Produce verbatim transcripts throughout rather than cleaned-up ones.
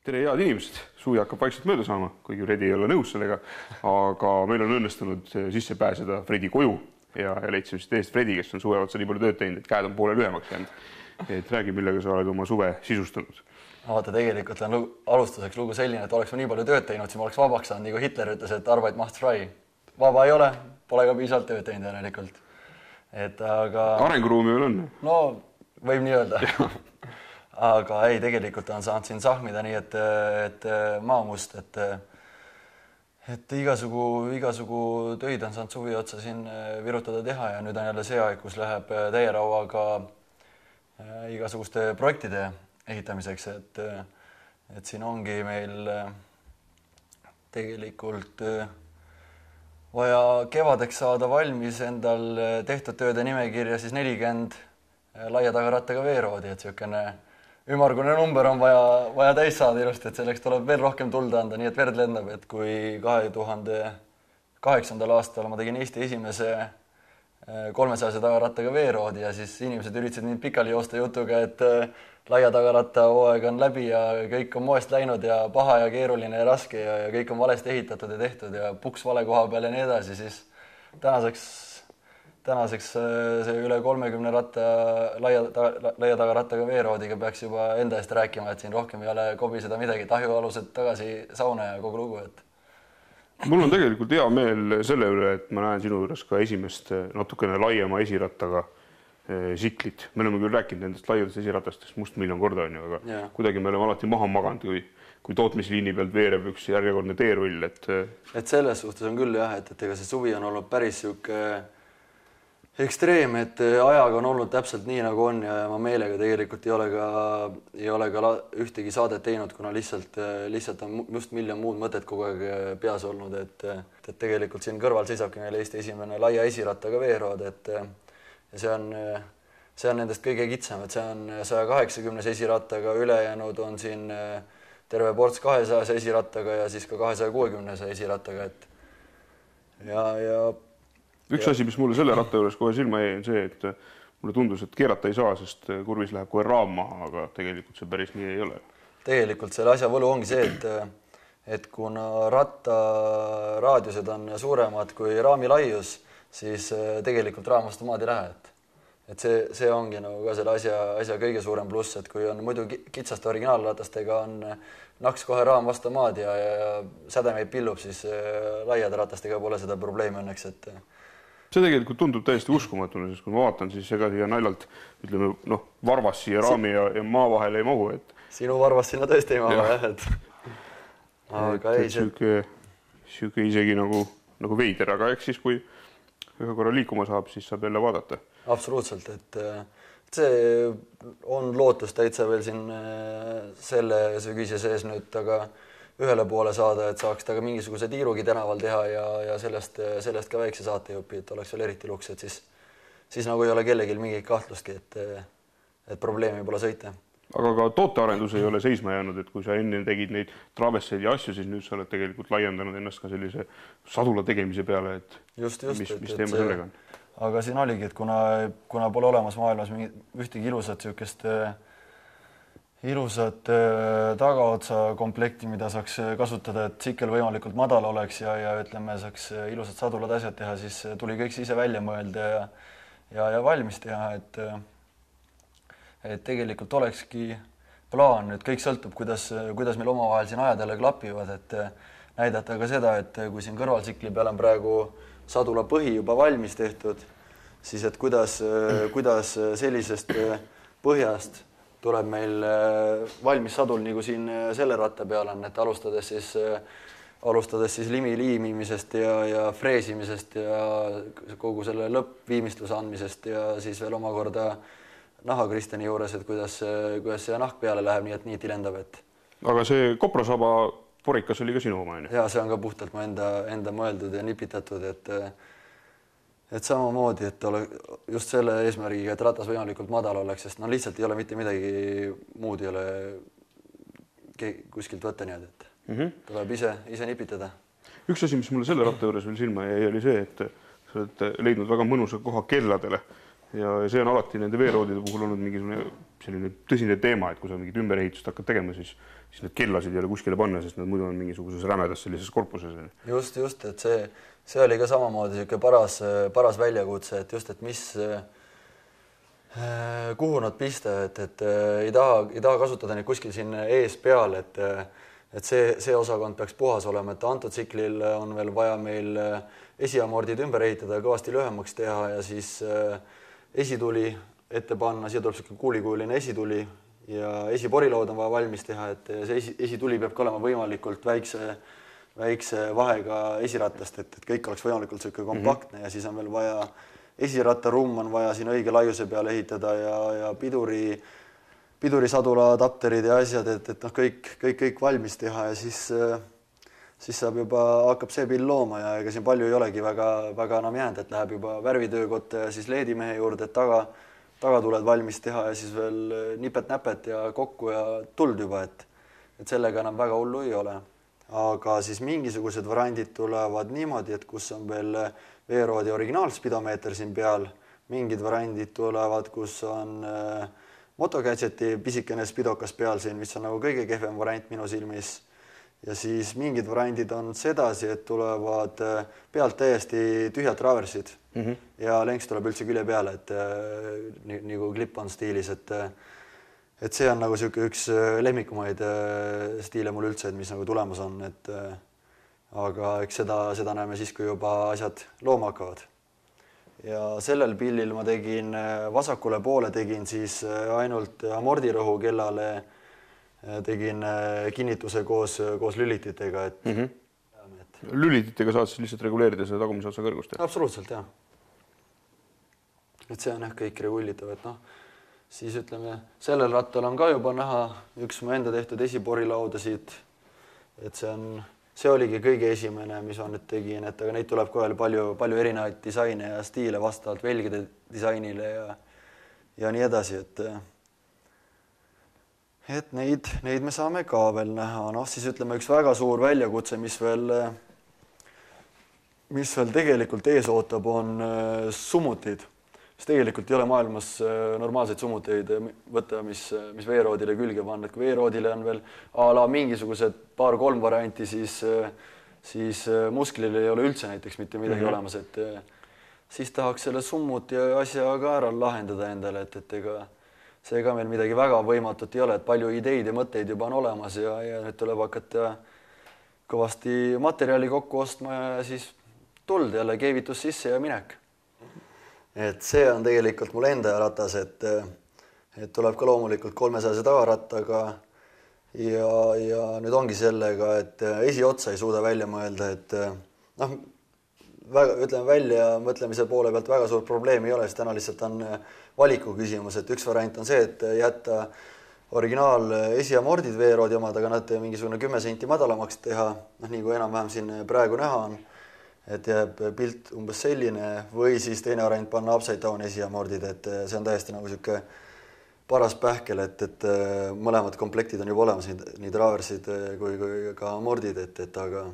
Tere head inimesed, suvi hakkab vaikselt mööda saama, kuigi Fredi ei ole nõus sellega, aga meil on õnnestunud sisse pääseda Fredi koju ja, ja leidsime siis teist Fredi, kes on suve otsa nii palju tööd teinud, et käed on poole lühemaks jäänud. Et räägi, millega sa oled oma suve sisustanud. Vaata, tegelikult on alustuseks lugu selline, et oleks ma nii palju tööd teinud, siis ma oleks vabaks saanud, nii kui Hitler ütles, et Arbeit macht frei. Vaba ei ole, pole ka piisavalt tööd teinud järelikult. Et aga... Arenguruumi veel on? No, võib nii öelda. Aga ei, tegelikult on saanud siin sahmida nii, et, et maamust, et, et igasugu, igasugu töid on saanud suvi otsa siin virutada teha ja nüüd on jälle see aeg, kus läheb täie rauaga igasuguste projektide ehitamiseks, et, et siin ongi meil tegelikult vaja kevadeks saada valmis endal tehtud tööde nimekirja siis nelikümmend laia tagarattaga veeroodi, et siukene ümmargune number on vaja, vaja täis saada ilusti, et selleks tuleb veel rohkem tulda anda, nii et verd lendab, et kui kahe tuhande kaheksandal aastal ma tegin Eesti esimese kolmesajase tagarattaga veeroodi ja siis inimesed üritasid mind pikali joosta jutuga, et laia tagaratta hooaeg on läbi ja kõik on moest läinud ja paha ja keeruline ja raske ja, ja kõik on valesti ehitatud ja tehtud ja puks vale koha peal ja nii edasi, siis tänaseks Tänaseks see üle kolmekümne ratta laia, laia tagarattaga veeroodiga peaks juba enda eest rääkima, et siin rohkem ei ole kobiseda midagi, tahjualused tagasi sauna ja kogu lugu. Et... Mul on tegelikult hea meel selle üle, et ma näen sinu juures ka esimest natukene laiema esirattaga siklit. Me oleme küll rääkinud nendest laiadest esiratastest must miljon korda on ju, aga ja. Kuidagi me oleme alati maha maganud, kui, kui tootmisliini pealt veereb üks järjekordne teerull. Et... et selles suhtes on küll jah, et, et ega see suvi on olnud päris siuke ekstreem, et ajaga on olnud täpselt nii, nagu on ja ma meelega tegelikult ei ole ka, ei ole ka ühtegi saadet teinud, kuna lihtsalt, lihtsalt on just miljon muud mõtet kogu aeg peas olnud, et, et tegelikult siin kõrval seisabki meil Eesti esimene laia esirattaga veerood, et ja see on, see on nendest kõige kitsam, et see on saja kaheksakümnes esirattaga, ülejäänud on siin terve ports kahesaja esirattaga ja siis ka kahesaja kuuekümnes esirattaga, et ja, ja Üks asi, mis mulle selle ratta juures kohe silma jäi, on see, et mulle tundus, et keerata ei saa, sest kurvis läheb kohe raam maha, aga tegelikult see päris nii ei ole. Tegelikult selle asja võlu ongi see, et, et kuna ratta raadiused on suuremad kui raami laius, siis tegelikult raam vastu maad ei lähe. Et, et see, see ongi nagu ka selle asja, asja kõige suurem pluss, et kui on muidu kitsaste originaalratastega on naks kohe raam vastu maad ja, ja sädemeid pillub, siis laiade ratastega pole seda probleemi õnneks, et see tegelikult tundub täiesti uskumatuna, sest kui ma vaatan, siis ega siia naljalt, ütleme, noh, varvas siia raami ja, ja maa vahele ei mahu. Et... Sinu varvas sinna tõesti ei mahu, jah, et... Aga et, ei, et süke, süke isegi nagu, nagu veider, aga eks siis, kui ühe korra liikuma saab, siis saab jälle vaadata. Absoluutselt, et see on lootus täitsa veel siin selle sügise sees nüüd, aga ühele poole saada, et saaks ta ka mingisuguse tiirugi tänaval teha ja, ja sellest, sellest ka väikse saatejupi, et oleks veel eriti luks, et siis, siis nagu ei ole kellegil mingit kahtlustki, et, et probleemi pole sõita. Aga ka tootearendus ei ole seisma jäänud, et kui sa enne tegid neid travesseid ja asju, siis nüüd sa oled tegelikult laiendanud ennast ka sellise sadula tegemise peale, et just, just, mis, et, mis teema sellega on? Aga siin oligi, et kuna, kuna pole olemas maailmas ühtegi ilusat siukest ilusat tagaotsa komplekti, mida saaks kasutada, et tsikkel võimalikult madal oleks ja, ja ütleme, saaks ilusad sadulad asjad teha, siis tuli kõik ise välja mõelda ja, ja, ja valmis teha, et, et tegelikult olekski plaan, et kõik sõltub, kuidas, kuidas meil omavahel siin ajad jälle klapivad, et näidata ka seda, et kui siin kõrvaltsikli peal on praegu sadula põhi juba valmis tehtud, siis et kuidas, kuidas sellisest põhjast tuleb meil valmis sadul, nagu siin selle ratta peal on, et alustades siis, alustades siis limi liimimisest ja, ja freesimisest ja kogu selle lõppviimistluse andmisest ja siis veel omakorda nahakristeni juures, et kuidas, kuidas see nahk peale läheb, nii et niiti lendab. Et... Aga see koprasaba porikas oli ka sinu oma? Ja see on ka puhtalt mu enda, enda mõeldud ja nipitatud, et et samamoodi, et ole just selle eesmärgiga, et ratas võimalikult madal oleks, sest no lihtsalt ei ole mitte midagi muud ei ole kuskilt võtta nii, et mm -hmm. tuleb ise, ise nipitada. Üks asi, mis mulle selle ratta juures veel silma jäi, oli see, et sa oled leidnud väga mõnusa koha kelladele ja see on alati nende veeroodide puhul olnud mingisugune selline tõsine teema, et kui sa mingit ümberehitust hakkad tegema, siis, siis need kellasid ei ole kuskile panna, sest nad muidu on mingisuguses rämedas sellises korpuses. Just, just, et see, see oli ka samamoodi selline paras, paras väljakutse, et just, et mis, kuhu nad pista, et, et ei taha, ei taha kasutada neid kuskil siin ees peal, et, et see, see osakond peaks puhas olema, et antud tsiklil on veel vaja meil esiamordid ümber ehitada ja kõvasti lühemaks teha ja siis esituli ette panna, siia tuleb selline kuulikuuline esituli ja esiporilaud on vaja valmis teha, et see esi, esituli peab ka olema võimalikult väikse, väikse vahega esiratast, et, et kõik oleks võimalikult selline kompaktne mm-hmm. ja siis on veel vaja, esirattarumm on vaja siin õige laiuse peale ehitada ja, ja piduri, pidurisadula adapterid ja asjad, et, et noh, kõik, kõik, kõik valmis teha ja siis, siis saab juba, hakkab see pill looma ja ega siin palju ei olegi väga, väga enam jäänud, et läheb juba värvitöökotta ja siis leedimehe juurde, et taga tagatuled valmis teha ja siis veel nipet-näpet ja kokku ja tuld juba, et, et sellega enam väga hullu ei ole. Aga siis mingisugused variandid tulevad niimoodi, et kus on veel veeroodi originaalspidomeeter siin peal, mingid variandid tulevad, kus on äh, motogadgeti pisikene spidokas peal siin, mis on nagu kõige kehvem variant minu silmis. Ja siis mingid variandid on sedasi, et tulevad pealt täiesti tühjad traversid mm-hmm. ja lenks tuleb üldse külje peale, et nii, nagu clip-on stiilis, et, et see on nagu siuke üks lemmikumaid stiile mul üldse, et mis nagu tulemas on, et aga eks seda, seda näeme siis, kui juba asjad looma hakkavad. Ja sellel pillil ma tegin vasakule poole, tegin siis ainult amordirõhu kellale tegin kinnituse koos, koos lülititega, et, mm-hmm. et... Lülititega saad siis lihtsalt reguleerida seda tagumise otsa kõrgust? Absoluutselt, jah. Et see on jah kõik regullitav, et noh, siis ütleme, sellel rattal on ka juba näha üks mu enda tehtud esiporilaudasid, et see on, see oligi kõige esimene, mis ma nüüd tegin, et aga neid tuleb kohe palju, palju erinevaid disaine ja stiile vastavalt velgide disainile ja, ja nii edasi, et et neid, neid me saame ka veel näha. Noh, siis ütleme üks väga suur väljakutse, mis veel, mis veel tegelikult ees ootab, on summutid. Sest tegelikult ei ole maailmas normaalseid summuteid võtta, mis, mis veeroodile külge panna. Et kui veeroodile on veel a la mingisugused paar-kolm varianti, siis, siis musklil ei ole üldse näiteks mitte midagi mm-hmm. olemas. Et siis tahaks selle summuti asja ka ära lahendada endale, et, et ega see ka meil midagi väga võimatut ei ole, et palju ideid ja mõtteid juba on olemas ja, ja nüüd tuleb hakata kõvasti materjali kokku ostma ja siis tuld jälle keevitus sisse ja minek. Et see on tegelikult mul enda ratas, et, et tuleb ka loomulikult kolmesajase tagarattaga ja, ja nüüd ongi sellega, et esiotsa ei suuda välja mõelda, et noh, väga, ütleme välja mõtlemise poole pealt väga suur probleem ei ole, sest täna lihtsalt on valiku küsimus, et üks variant on see, et jätta originaal esiamordid veeroodi omad, aga nad mingisugune kümme senti madalamaks teha, noh nii kui enam-vähem siin praegu näha on, et jääb pilt umbes selline või siis teine variant panna upside down esiamordid, et see on täiesti nagu siuke paras pähkel, et, et mõlemad komplektid on juba olemas, nii traversid kui, kui ka amordid, et, et aga,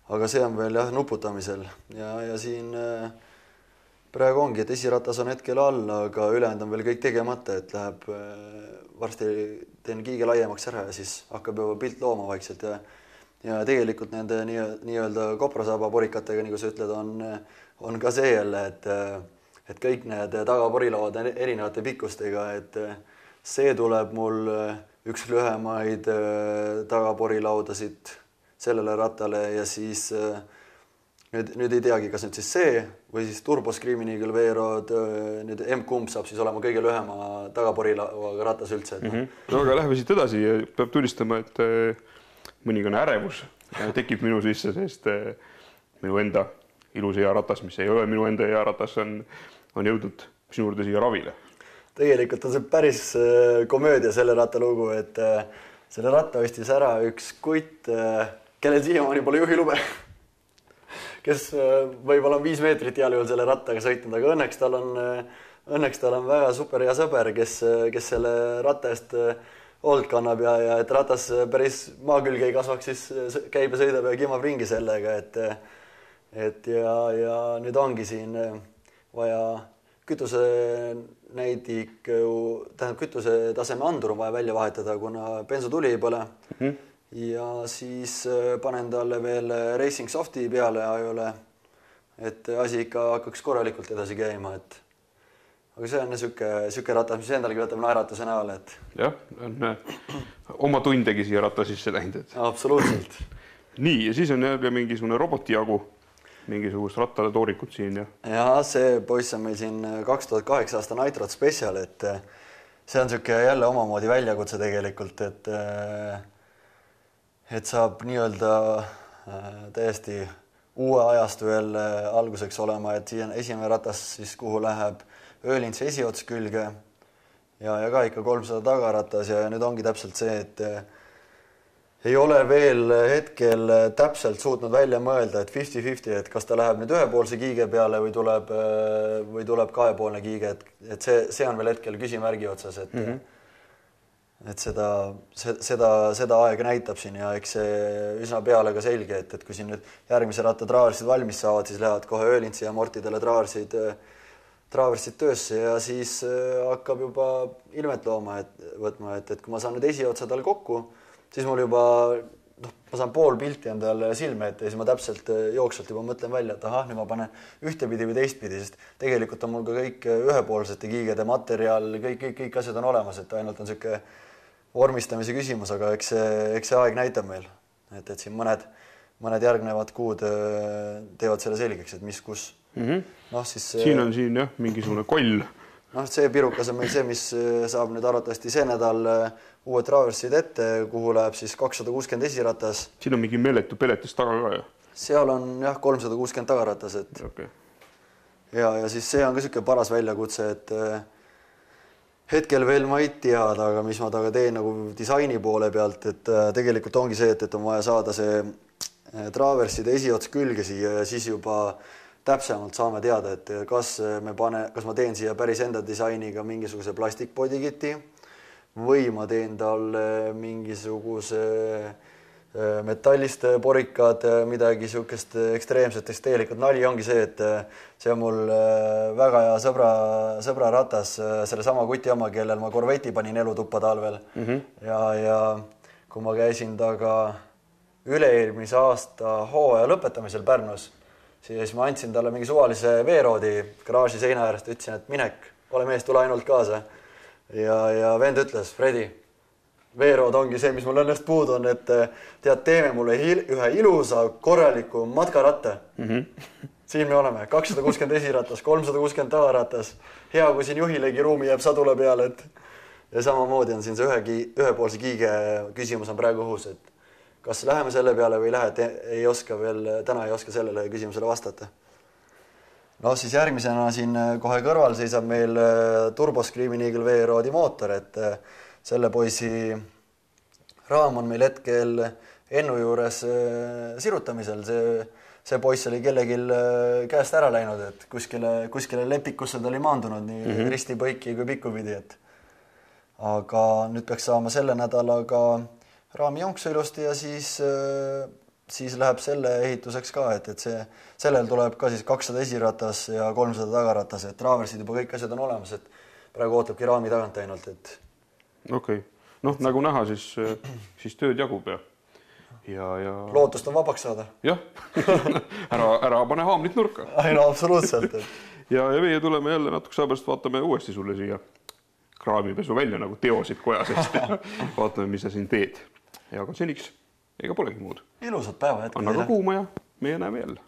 aga see on veel jah nuputamisel ja, ja siin praegu ongi, et esiratas on hetkel all, aga ülejäänud on veel kõik tegemata, et läheb varsti teen kiige laiemaks ära ja siis hakkab juba pilt looma vaikselt ja, ja tegelikult nende nii, nii-öelda koprasaaba porikatega, nagu sa ütled, on, on ka see jälle, et, et kõik need tagaporilauad erinevate pikkustega, et see tuleb mul üks lühemaid tagaporilaudasid sellele rattale ja siis Nüüd, nüüd ei teagi, kas nüüd siis see või siis Turbo Screaming Eagle veerood, nüüd M-kumb saab siis olema kõige lühema tagaporilauaga ratas üldse. Et mm-hmm. No aga läheme siit edasi ja peab tunnistama, et mõningane ärevus tekib minu sisse, sest minu enda ilus hea ratas, mis ei ole minu enda hea ratas, on, on jõudnud sinu juurde siia ravile. Tegelikult on see päris komöödia selle ratta lugu, et selle ratta ostis ära üks kutt, kellel siiamaani pole juhilube. Kes võib-olla on viis meetrit heal juhul selle rattaga sõitnud, aga õnneks tal on, õnneks tal on väga super hea sõber, kes, kes selle ratta eest hoolt kannab ja, ja et ratas päris maa külge ei kasvaks, siis käib ja sõidab ja kimab ringi sellega, et, et ja, ja nüüd ongi siin vaja kütuse näidik, tähendab kütuse taseme andur on vaja välja vahetada, kuna bensutuli ei põle. Mm-hmm. Ja siis panen talle veel Racing Softi peale ajole, et asi ikka hakkaks korralikult edasi käima, et aga see on süke, süke ratas, mis endalgi võtab naeratuse näol, et... Jah, on oma tundegi siia rata sisse läinud. Absoluutselt. Nii, ja siis on jälle mingisugune robotijagu, mingisugust rattale toorikut siin. Ja, ja see poiss on meil siin kaks tuhat kaheksa aasta Nitrot Special, et see on süke jälle omamoodi väljakutse tegelikult, et, et saab nii-öelda täiesti uue ajastu veel alguseks olema, et siin esimene ratas, siis kuhu läheb öölints esiots külge ja, ja ka ikka kolmsada tagaratas ja nüüd ongi täpselt see, et ei ole veel hetkel täpselt suutnud välja mõelda, et viiskümmend viiskümmend, et kas ta läheb nüüd ühepoolse kiige peale või tuleb, või tuleb kahepoolne kiige, et, et see, see on veel hetkel küsimärgi otsas, et, mm -hmm. et seda, seda, seda aega näitab siin ja eks see üsna peale ka selge, et, et kui siin nüüd järgmise ratta traarsid valmis saavad, siis lähevad kohe öölintsi ja mortidele traarsid traaversid töösse ja siis hakkab juba ilmet looma, et võtma, et, et kui ma saan nüüd esiotsa tal kokku, siis mul juba, noh, ma saan pool pilti endale silme ette ja siis ma täpselt jooksvalt juba mõtlen välja, et ahah, nüüd ma panen ühtepidi või teistpidi, sest tegelikult on mul ka kõik ühepoolsete kiigede materjal, kõik, kõik, kõik asjad on olemas, et ainult on selline vormistamise küsimus, aga eks see, eks see aeg näitab meil, et, et siin mõned, mõned järgnevad kuud teevad selle selgeks, et mis kus. Mm -hmm. no, siis, siin on siin jah, mingisugune koll. Noh, see pirukas on meil see, mis saab nüüd arvatavasti see nädal uued traversid ette, kuhu läheb siis kakssada kuuskümmend esiratas. Siin on mingi meeletu peletis taga ka, jah? Seal on jah, kolmsada kuuskümmend tagaratas, et okay. ja, ja siis see on ka selline paras väljakutse, et hetkel veel ma ei teada, aga mis ma taga teen nagu disaini poole pealt, et tegelikult ongi see, et, et on vaja saada see traverside esiots külge siia ja siis juba täpsemalt saame teada, et kas me pane, kas ma teen siia päris enda disainiga mingisuguse plastikpodikiti või ma teen talle mingisuguse metallist porikad, midagi sihukest ekstreemset, sest tegelikult nali ongi see, et see on mul väga hea sõbra, sõbra ratas, selle sama kuti oma, kellel ma Corvetti panin elutuppa talvel mm -hmm. ja, ja kui ma käisin taga üle-eelmise aasta hooaja lõpetamisel Pärnus, siis ma andsin talle mingi suvalise veeroodi garaaži seina äärest, ütlesin, et minek, ole mees, tule ainult kaasa. Ja, ja vend ütles, Fredi, veerood ongi see, mis mul õnnest puudu on, et tead, teeme mulle ühe ilusa, korraliku matkaratta. Mm -hmm. Siin me oleme, kakssada kuuskümmend esiratas, kolmsada kuuskümmend tagaratas. Hea, kui siin juhilegi ruumi jääb sadula peale, et ja samamoodi on siin see ühe, ühepoolse kiige küsimus on praegu õhus, et kas läheme selle peale või ei lähe, et ei oska veel, täna ei oska sellele küsimusele vastata. No siis järgmisena siin kohe kõrval seisab meil Turbo Screaming Eagle veeroodi mootor, et selle poisi raam on meil hetkel Ennu juures sirutamisel. See, see poiss oli kellegi käest ära läinud, et kuskile, kuskile lepikusse ta oli maandunud nii mm -hmm. risti põiki kui pikkupidi, et aga nüüd peaks saama selle nädalaga raami jonksu ilusti ja siis, siis läheb selle ehituseks ka, et, et see, sellel tuleb ka siis kakssada esiratas ja kolmsada tagaratas, et traversid juba kõik asjad on olemas, et praegu ootabki raami tagant ainult, et okei, okay. Noh, nagu näha, siis, siis tööd jagub ja, ja, ja... lootust on vabaks saada. Jah, ära, ära pane haamlit nurka. Ai, no absoluutselt. Et... ja, ja meie tuleme jälle natuke saabast, vaatame uuesti sulle siia kraamipesu välja nagu teosid koja seest ja vaatame, mis sa siin teed. Ja aga seniks, ega polegi muud. Ilusat päeva jätku. Anna ka kuuma ja meie näeme jälle.